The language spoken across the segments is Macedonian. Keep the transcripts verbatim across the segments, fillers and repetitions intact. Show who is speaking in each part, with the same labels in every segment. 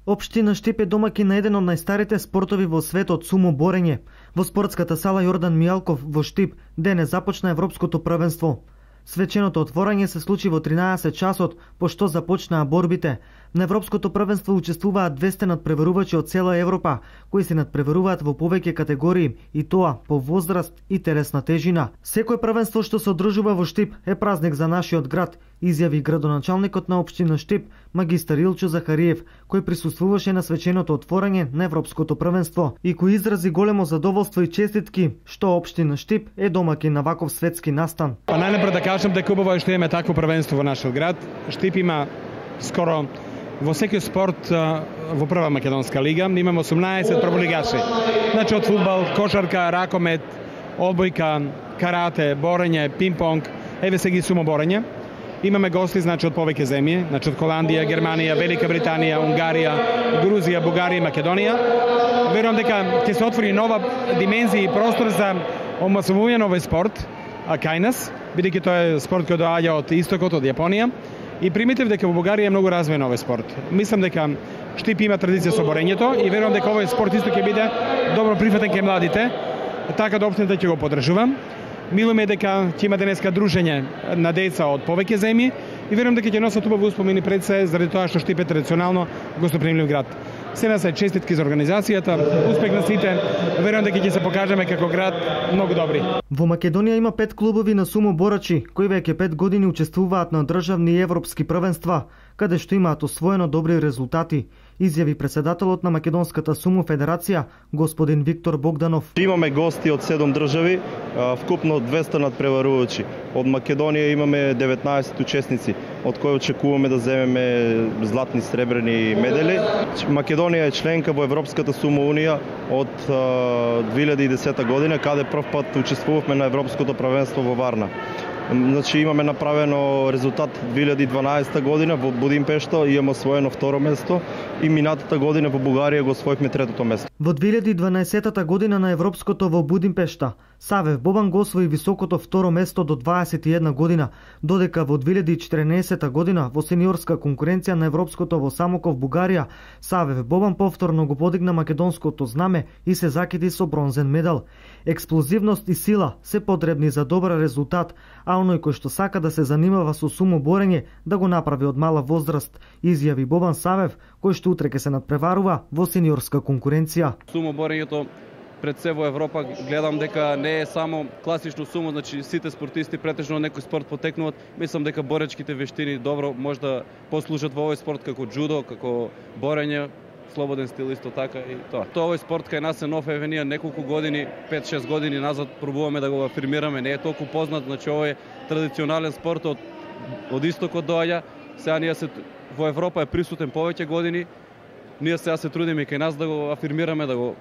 Speaker 1: Општина Штип е домаќин на еден од најстарите спортови во светот, сумо борење. Во спортската сала Јордан Мијалков во Штип денес започна европското првенство. Свеченото отворање се случи во тринаесет часот, пошто започнаа борбите. На европското првенство учествуваат двесте надпреварувачи од цела Европа, кои се надпреваруваат во повеќе категории, и тоа по возраст и телесна тежина. Секој првенство што се одржува во Штип е празник за нашиот град, изјави градоначалникот на општина Штип, магистар Илчо Захариев, кој присуствуваше на свеченото отворање на европското првенство и кој изрази големо задоволство и честитки што општина Штип е домаќин на ваков светски настан.
Speaker 2: Па најнапред да кажам дека убаво е што имаме такво првенство во нашиот град. Штип има скоро во секој спорт во прва македонска лига имаме осумнаесет прволигачи. Значи од фудбал, кошарка, ракомет, одбојка, карате, борење, пинг-понг, еве се ги сумо борење. Имаме гости значи од повеќе земји, значи од Холандија, Германија, Велика Британија, Унгарија, Грузија, Бугарија и Македонија. Верувам дека ќе се отвори нова димензија и простор за омасовување на овој спорт кај нас, бидејќи тоа е спорт кој доаѓа од истокот, од Јапонија. И примитив дека во Бугарија е многу развиен овој спорт. Мислам дека Штип има традиција со борењето и верувам дека овој спорт исто ќе биде добро прифатен кај младите, така да општината ќе го поддржувам. Милуме дека ќе има денеска дружење на деца од повеќе земји и верувам дека ќе носат убави успомени пред се заради тоа што Штип е традиционално гостопримлив град. Се на се честитки за организацијата, успех на сите. Верувам дека ќе се покажеме како град многу добри.
Speaker 1: Во Македонија има пет клубови на сумо борачи кои веќе пет години учествуваат на државни и европски првенства, каде што имаат освоено добри резултати, изјави председателот на Македонската сумо федерација, господин Виктор Богданов.
Speaker 3: Имаме гости од седум држави, вкупно двесте надпреварувачи. Од Македонија имаме деветнаесет учесници, од кои очекуваме да земеме златни, сребрени медали. Македонија е членка во Европската сумо унија од две илјади и десета година, каде прв пат учествувавме на Европското првенство во Варна. Значи имаме направено резултат две илјади и дванаесета година во Будимпешта, имаме освоено второ место и минатата година во Бугарија го освоивме третото место.
Speaker 1: Во две илјади и дванаесета година на Европското во Будимпешта Савев Бобан го освои високото второ место до дваесет и една година, додека во две илјади и четирнаесета година во сениорска конкуренција на Европското во Самоков, Бугарија, Савев Бобан повторно го подигна македонското знаме и се закити со бронзен медал. Експлозивност и сила се потребни за добар резултат, а оној кој што сака да се занимава со сумо борење да го направи од мала возраст, изјави Бобан Савев, кој што утре ќе се надпреварува во сениорска конкуренција.
Speaker 4: Сумо борењето пред се во Европа гледам дека не е само класично сумо, значи сите спортисти претежно некој спорт потекнуваат. Мислам дека боречките вештини добро може да послужат во овој спорт како џудо, како борење, слободен стил исто така и тоа. Тоа овој спорт кај нас е нов, еве ние неколку години, пет-шест години назад пробуваме да го афирмираме, не е толку познат, значи овој е традиционален спорт од од истокот доаѓа. Сега ние се во Европа е присутен повеќе години. Ние сега се трудиме и кај нас да го афирмираме, да го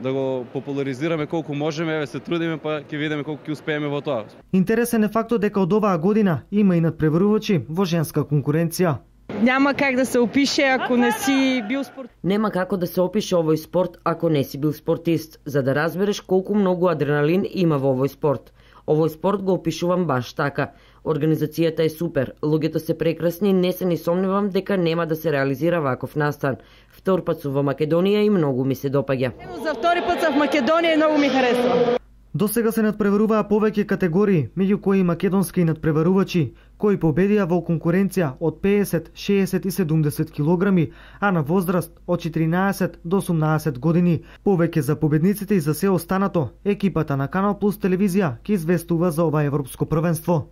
Speaker 4: да го популаризираме колку можеме, еве се трудиме, па ќе видиме колку ќе успееме во тоа.
Speaker 1: Интересен е фактот дека од оваа година има и надпреварувачи во женска конкуренција.
Speaker 5: Няма как да се опише ако не си бил спорт.
Speaker 6: Нема како да се опише овој спорт ако не си бил спортист, за да разбереш колку многу адреналин има во овој спорт. Овој спорт го опишувам баш така. Организацијата е супер, луѓето се прекрасни, не се ни сомневам дека нема да се реализира ваков настан. Втор пат сум во Македонија и многу ми се допаѓа.
Speaker 5: За втори пат сум во Македонија и многу ми харесува.
Speaker 1: До сега се надпреваруваа повеќе категории, меѓу кои македонски надпреварувачи, кои победија во конкуренција од педесет, шеесет и седумдесет килограми, а на возраст од четиринаесет до осумнаесет години. Повеќе за победниците и за се останато, екипата на Канал Плюс телевизија ќе известува за ова европско првенство.